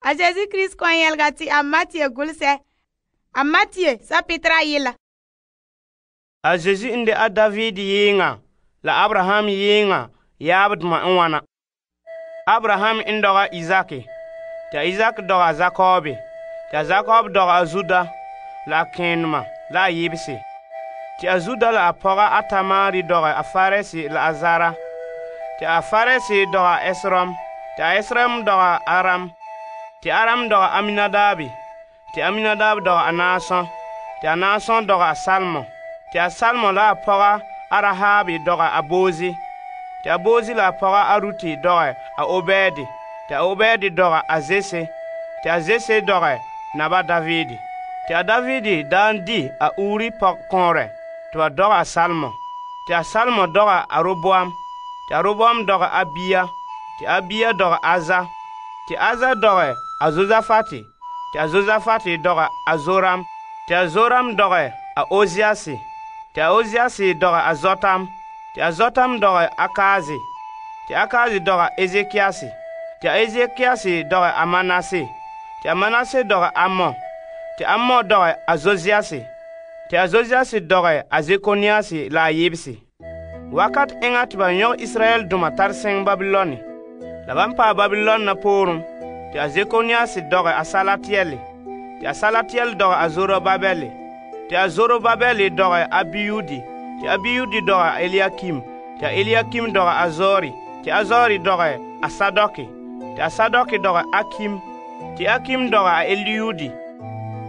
A Yesu Krista kon yɛlega te a Matthew gulesɛ. A Matthew sapetera yela. A Yesu n de a David yeenŋa la Abraham yeenŋa yaabdoma n wana. Abraham n dɔga Isak, te Isak dɔga Jakob, te Jakob dɔga Juda la a kɛɛnoma la a yebese. Te a Juda la a pɔga a Tamari dɔga a Faresi la a Zara. Te a Faresi dɔga Esrom, te a Esrom dɔga Aram. Te Aram dɔga Aminadabi, te Aminadab dɔga a Naason, te a Naason dɔga a Salmon. Te a Salmon la a pɔga a Rahabi dɔga a Bozi. Te a Bozi la a pɔga a Ruti dɔga a Obedi. Te a Obedi dɔga a Zese. Te a Zese dɔga naba Davidi. Te a Davidi daan di a Uri pɔgkɔɔrɛ te ba dɔga a Salmon. Te a Salmon dɔga a Roboam. Te a Roboam dɔga a Abiya. Te Abiya dɔga Aza. Te Aza dɔga a Josafati. Te a Josafati dɔga a Zoram. Te a Zoram dɔga a Oziasi. Te a Oziasi dɔga a Zotam. Te a Zotam dɔga a Akazi. Te Akazi dɔga Ezekiasi. Te a Ezekiasi dɔga a Manase. Te a Manase dɔga Amon. Te Amon dɔga a Josiasi. Te a Josiasi dɔga a Zekoniasi la a yebese. Wakat eŋa te ba yɔg Israel duma tar seŋ Babiloni. La ban paɛ Babilon na poorum. Te a Zekoniasi dɔga a Salatiel. Te a Salatiel dɔga a Zorobabel. Te a Zorobabel dɔga a Abiyudi. Te Abiyudi dɔga a Eliakim. Te a Eliakim dɔga a Zori. Te a Zori dɔga a Sadoki. Te a Sadoki dɔga Akim. Te Akim dɔga a Eliudi.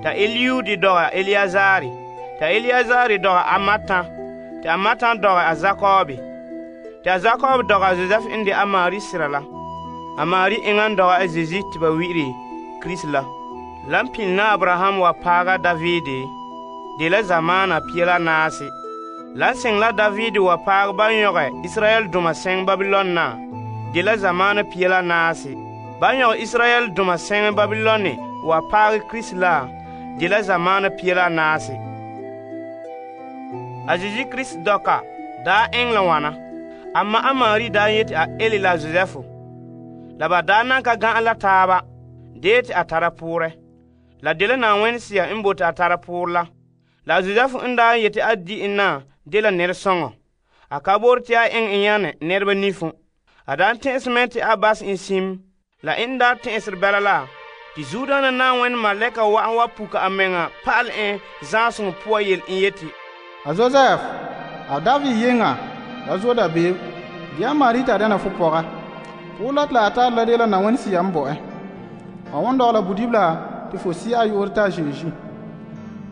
Te a Eliudi dɔga a Eliazari. Te a Eliazari dɔga a Matan. Te a Matan dɔga a Jakobi. Te a Jakob dɔga a Joseph n de a Mari sira la. A Mari eŋan dɔga a Zeezi te ba wi'ire Krista la. Lan pin na Abraham wa paaga Davide de la zamaana pia la naase. Lan seŋ la Davide wa paag ban yɔge Israel duma seŋ Babilon na de la zamaana pia la naase. Ban yɔge Israel duma seŋ Babiloni wa paag Krista la de la zamaana pia la naase. A Yesu Krista dɔka daa eŋ la wana. Amma a Mari daa yeti a ele la Joseph. La ba daa nan ka gã'a la taaba deeti a tara poorɛ. La de la Na'ayenɛ Sea n bote a tara poor la. La Joseph n daa yeti a di en na de la nɛresɔŋɔ. A ka boore te a eŋ en yãne nɛreba nifo. A daa tɛ'ɛse mɛ te a bas en sim. La en daa tɛ'ɛsere bɛla la te zuodaana Na'ayenɛ malɛka wa'an wa puka a meŋa pa'alɛ en zãasoŋɔ poa yele en yeti, A Joseph, a David yenga, la zo da beeb. Dia Mari ta dena fo pɔga. Poolat la a tar la de la Na'ayenɛ Sea n bo ɛ. A won dɔgla budibla te fo si a yoore ta Zeezi.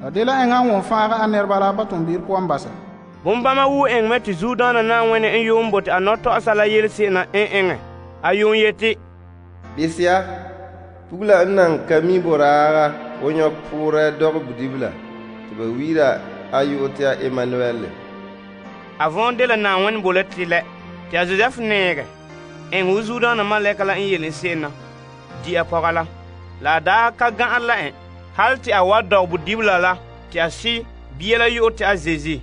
La de la eŋa n won fãaga a nɛreba la ba tʋʋm-beere puan basa. Bombama wu eŋ mɛ te zuodaana Na'ayenɛ n yuun bote a nɔtɔgsa la yelese'ena n eŋɛ. A yuun yeti, Bisia, pugla n nan ka mi boraaga o yõk poorɛ dɔg budibla tɩ ba wiira a yo'o tɩ a Emmanuel. A võon de la Na'ayenɛ bo la tɩlɛ tɩ a Joseph nɛɛgɛ eŋ wo zuodaana malɛka la n yele se'ena di a pɔga la. La a daa ka gã'a la en hal tɩ a wa dɔg budibla la tɩ a si bia la yo'o tɩ a Zeezi.